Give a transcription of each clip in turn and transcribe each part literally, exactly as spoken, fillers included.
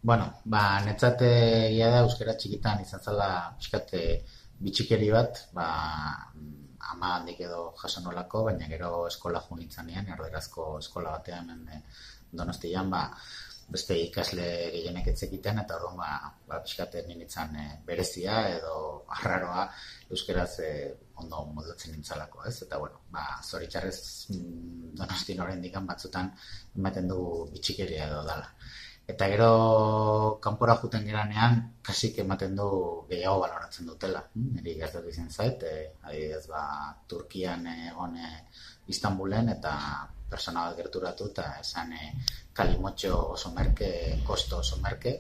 Bueno, ba, netzat egia da euskara txikitan izan zela pixkat eh, bitxikeri bat, ba, mm, ama handik edo jaso nolako, baina gero eskola jo nintzanean, erderazko eskola batean hemen eh, Donostian, ba, beste ikasle gehienek etzekiten, eta orduan, ba, ba pixkat nintzen eh, berezia edo arraroa euskaraz eh, ondo moldatzen nintzalako, ez? Eta, bueno, ba, zoritxarrez mm, Donostin oraindik batzutan ematen du bitxikeria edo dala. Eta gero kanpora juten geranean, kasik ematen du gehiago baloratzen dutela. Mm, Niri gertatu izan zait, e, adibidez, ba, Turkian egon e, Istanbulen eta persona bat gerturatu eta esan e, kalimotxo oso merke, kosto oso merke.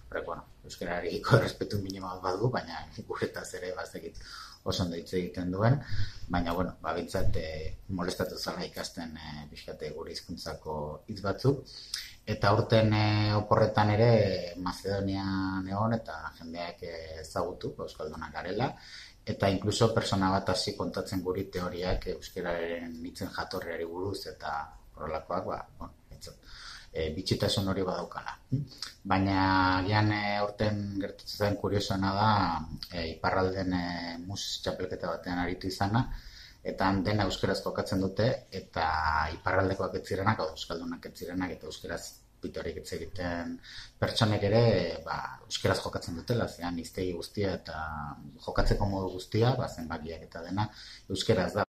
Horrek, bueno, euskarariko errespetu minimo bat badu, baina guretaz ere bazekit oso ondo hitz egiten duen, baina, bueno, ba, bintzat e, molestatu zala ikasten e, pixkate gure hizkuntzako hitz batzuk. Eta aurten e, oporretan ere Macedonian egon eta jendeak ezagutu euskaldunak garela, eta inkluso persona bat hasi kontatzen guri teoriak euskararen hitzen jatorriari buruz eta horrelakoak, ba, bueno, e, bitxitasun hori badaukala. Baina gian e, aurten gertatzen zen kuriosoena da e, iparralden e, mus txapelketa batean aritu izana, eta han dena euskaraz jokatzen dute, eta iparraldekoak ez zirenak, hau euskaldunak ez zirenak, eta euskaraz pitorik ez egiten pertsonek ere, ba, euskaraz jokatzen dutela, zean iztegi guztia eta jokatzeko modu guztia, ba, zenbakiak eta dena euskaraz da,